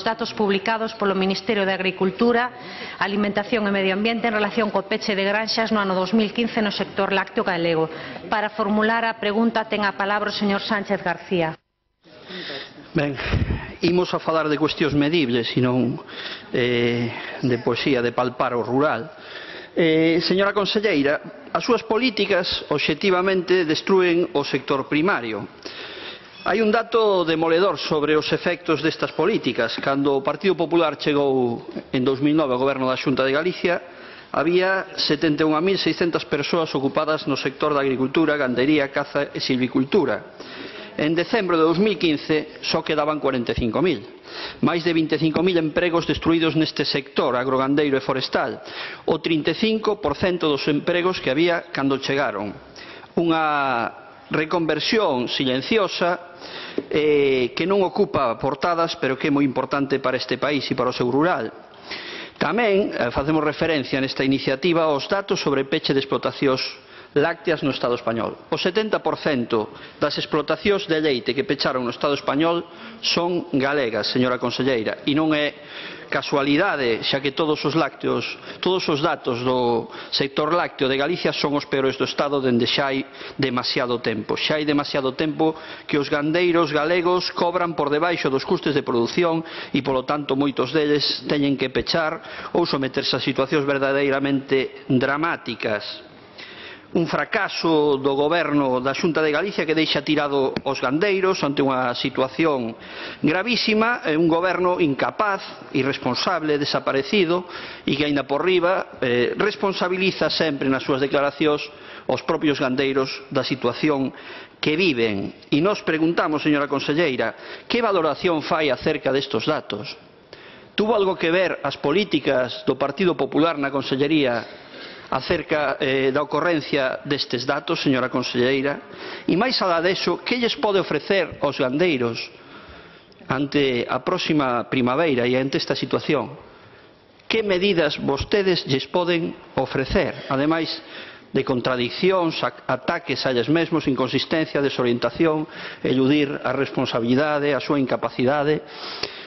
datos publicados polo Ministerio de Agricultura, Alimentación e Medio Ambiente en relación co peche de granxas no ano 2015 no sector lácteo galego. Para formular a pregunta ten a palabra o señor Sánchez García. Ben, imos a falar de cuestións medibles e non de poesía, de palpar o rural. Señora conselleira, as súas políticas obxectivamente destrúen o sector primario. Hai un dato demoledor sobre os efectos destas políticas. Cando o Partido Popular chegou en 2009 ao goberno da Xunta de Galicia, había 71.600 persoas ocupadas no sector da agricultura, gandería, caza e silvicultura. En decembro de 2015 só quedaban 45.000. Máis de 25.000 empregos destruídos neste sector agrogandeiro e forestal, o 35% dos empregos que había cando chegaron. Unha reconversión silenciosa que non ocupa portadas, pero que é moi importante para este país e para o seu rural. Tamén facemos referencia nesta iniciativa aos datos sobre peche de explotacións lácteas no Estado español. O 70% das explotacións de leite que pecharon no Estado español son galegas, señora conselleira, e non é casualidade, xa que todos os datos do sector lácteo de Galicia son os peores do Estado dende xa hai demasiado tempo. Xa hai demasiado tempo que os gandeiros galegos cobran por debaixo dos custes de produción e, polo tanto, moitos deles teñen que pechar ou someterse a situacións verdadeiramente dramáticas. Un fracaso do goberno da Xunta de Galicia que deixa tirado os gandeiros ante unha situación gravísima, un goberno incapaz, irresponsable, desaparecido e que, aínda por riba, responsabiliza sempre nas súas declaracións os propios gandeiros da situación que viven. E nos preguntamos, señora conselleira, que valoración fai acerca destes datos? Tuvo algo que ver as políticas do Partido Popular na Consellería acerca da ocorrencia destes datos, señora conselleira? E máis alá deso, que lles pode ofrecer aos gandeiros ante a próxima primavera e ante esta situación? Que medidas vostedes lles poden ofrecer? Ademais de contradiccións, ataques a eles mesmos, inconsistencia, desorientación, eludir a responsabilidade, a súa incapacidade.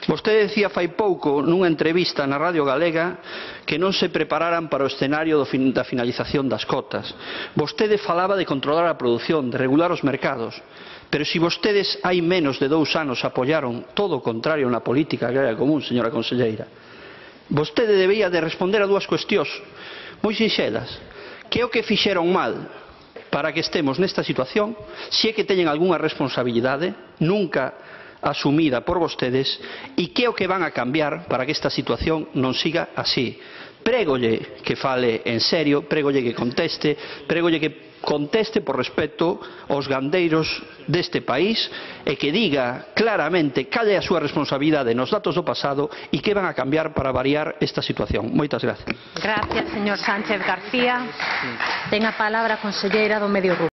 Vostede decía fai pouco nunha entrevista na Radio Galega que non se prepararan para o escenario da finalización das cotas. Vostede falaba de controlar a produción, de regular os mercados. Pero se vostedes hai menos de 2 anos apoiaron todo o contrario na política agraria común, señora conselleira, vostede debía de responder a 2 cuestións moi sinxelas. Que é o que fixeron mal para que estemos nesta situación? Se é que teñen algunha responsabilidade nunca asumida por vostedes, e que é o que van a cambiar para que esta situación non siga así. Prégolle que fale en serio, prégolle que conteste por respeto aos gandeiros deste país e que diga claramente cal é a súa responsabilidade nos datos do pasado e que van a cambiar para variar esta situación. Moitas gracias. Gracias, señor Sánchez García. Ten a palabra a conselleira do Medio Rural.